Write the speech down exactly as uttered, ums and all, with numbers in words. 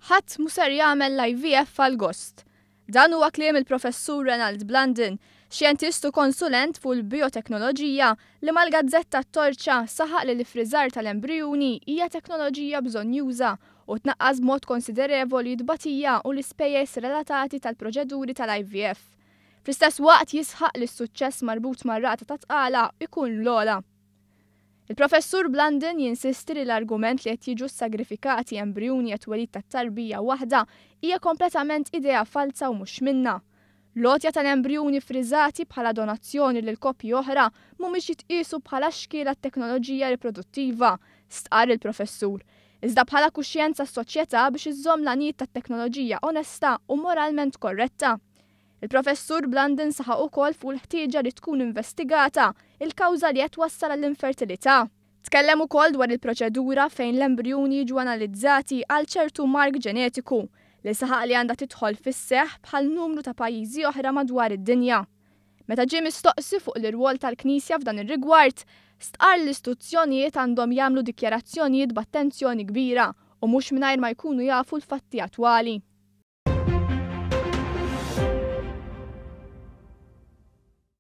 Ħadd mhu ser jagħmel l-I V F għall-gost. Dan huwa kliem il-Professur Renald Blandin, xjentist u konsulent fuq il-bioteknoloġija, li mal-gazzetta Torċa saħaq li l-ifriżar tal-embrijuni hija teknoloġija bżonjuża u tnaqqas b'mod konsiderevoli t-tbatija u l-ispejjeż relatati tal-proċeduri tal-I V F. Fl-istess waqt jisħaq li s-suċċess marbut mar-rata ta' tqala ikun l-ogħla. Il-Professur Blandin jinsisti li l-argument li qed jiġu sagrifikati embrijuni għat-twelid ta' tarbija waħda hija kompletament idea falsa u mhux minna. L-għotja tal-embrijuni friżati bħala donazzjoni lil koppji oħra mhumiex jitqisu bħala xkiel għat-teknoloġija riproduttiva, stqar il-professur. Iżda bħala kuxjenza s-soċjetà biex iżżomm l-għanijiet tat-teknoloġija onesta u moralment korretta. Il-Professur Blandin saħaq ukoll fuq il-ħtieġa li tkun investigata il-kawża li qed wassal għall-infertilità. Tkellem ukoll dwar il-proċedura fejn l-embrijuni jiġu analizzati għal ċertu mark ġenetiku li saħaq li għandha tidħol fis-seħ bħal numru ta' pajjiżi oħra madwar id-dinja. Meta ġie mistoqsi fuq l-irwol tal-Knisja f'dan ir-rigward, stqar l-istituzzjonijiet għandhom jagħmlu dikjarazzjonijiet b'attenzjoni kbira u mhux mingħajr ma jkunu jafu l-fatti attwali.